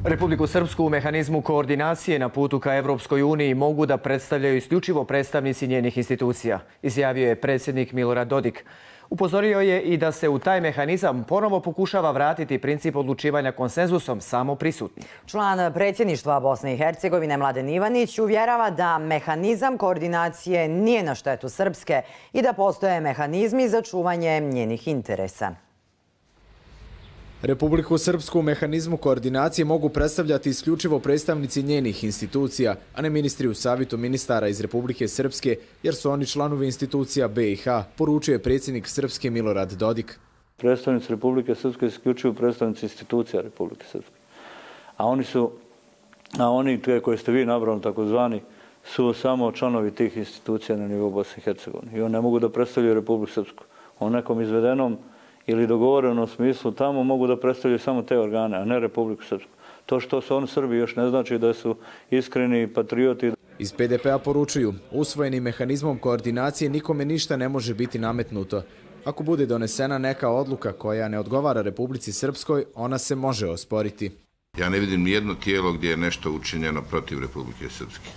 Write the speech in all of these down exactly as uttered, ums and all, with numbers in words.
Republiku Srpsku u mehanizmu koordinacije na putu ka Evropskoj uniji mogu da predstavljaju isključivo predstavnici njenih institucija, izjavio je predsjednik Milorad Dodik. Upozorio je i da se u taj mehanizam ponovo pokušava vratiti princip odlučivanja konsenzusom samo prisutnih. Član predsjedništva Bosne i Hercegovine Mladen Ivanić uvjerava da mehanizam koordinacije nije na štetu Srpske i da postoje mehanizmi za čuvanje njenih interesa. Republiku Srpsku u mehanizmu koordinacije mogu predstavljati isključivo predstavnici njenih institucija, a ne ministri u savjetu ministara iz Republike Srpske, jer su oni članovi institucija B i H, poručio je predsjednik Srpske Milorad Dodik. Predstavnici Republike Srpske isključivo predstavnici institucija Republike Srpske. A oni su, a oni koje ste vi nabrali takozvani, su samo članovi tih institucija na nivou Bosne i Hercegovine. I oni ne mogu da predstavljaju Republiku Srpsku. O nekom izvedenom ili dogovorenom smislu tamo mogu da predstavljaju samo te organe, a ne Republiku Srpsku. To što su oni Srbi još ne znači da su iskreni patrioti. Iz P D P-a poručuju, usvojenim mehanizmom koordinacije nikome ništa ne može biti nametnuto. Ako bude donesena neka odluka koja ne odgovara Republici Srpskoj, ona se može osporiti. Ja ne vidim nijedno tijelo gdje je nešto učinjeno protiv Republike Srpske.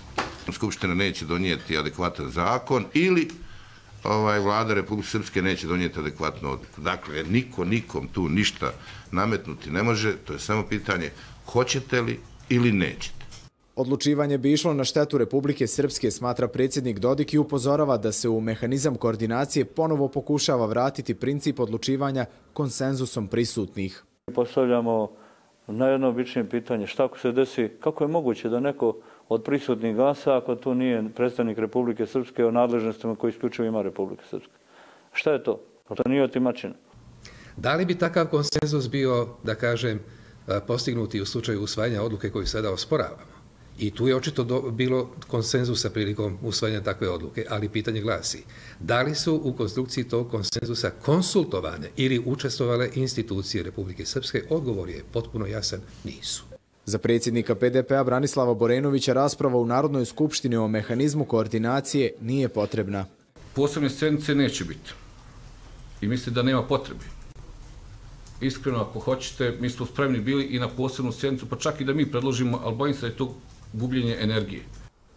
Skupština neće donijeti adekvatan zakon ili Ovaj, vlada Republike Srpske neće donijeti adekvatnu odluku. Dakle, niko nikom tu ništa nametnuti ne može, to je samo pitanje hoćete li ili nećete. Odlučivanje bi išlo na štetu Republike Srpske, smatra predsjednik Dodik i upozorava da se u mehanizam koordinacije ponovo pokušava vratiti princip odlučivanja konsenzusom prisutnih. Postavljamo najobičnije pitanje šta ako se desi, kako je moguće da neko od prisutnih glasa ako tu nije predstavnik Republike Srpske o nadležnostima koje isključivo ima Republika Srpska. Šta je to? To nije otimačina. Da li bi takav konsenzus bio, da kažem, postignuti u slučaju usvajanja odluke koju sada osporavamo? I tu je očito do, bilo konsenzusa prilikom usvajanja takve odluke, ali pitanje glasi, da li su u konstrukciji tog konsenzusa konsultovane ili učestvovale institucije Republike Srpske? Odgovor je potpuno jasan, nisu. Za predsjednika P D P-a Branislava Borenovića rasprava u Narodnoj skupštini o mehanizmu koordinacije nije potrebna. Posebne sjednice neće biti i mislim da nema potrebe. Iskreno, ako hoćete, mi smo spremni bili i na posebnu sjednicu, pa čak i da mi predložimo, ali bojim se da je to gubljenje energije.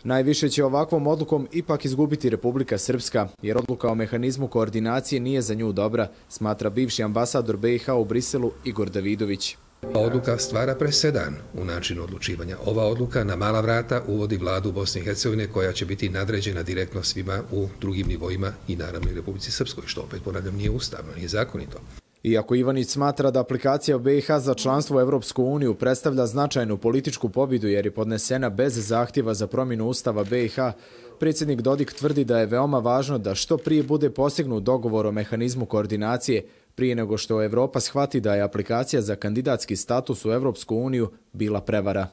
Najviše će ovakvom odlukom ipak izgubiti Republika Srpska, jer odluka o mehanizmu koordinacije nije za nju dobra, smatra bivši ambasador B i H u Briselu Igor Davidović. Ova odluka stvara presedan u načinu odlučivanja. Ova odluka na mala vrata uvodi vladu Bosne i Hercegovine koja će biti nadređena direktno svima u drugim nivoima i naravno i Republici Srpskoj, što opet ponavljam nije ustavno, nije zakonito. Iako Ivanić smatra da aplikacija B i H za članstvo u Evropsku uniju predstavlja značajnu političku pobjedu jer je podnesena bez zahtjeva za promjenu ustava B i H, predsjednik Dodik tvrdi da je veoma važno da što prije bude postignut dogovor o mehanizmu koordinacije prije nego što Evropa shvati da je aplikacija za kandidatski status u Evropsku uniju bila prevara.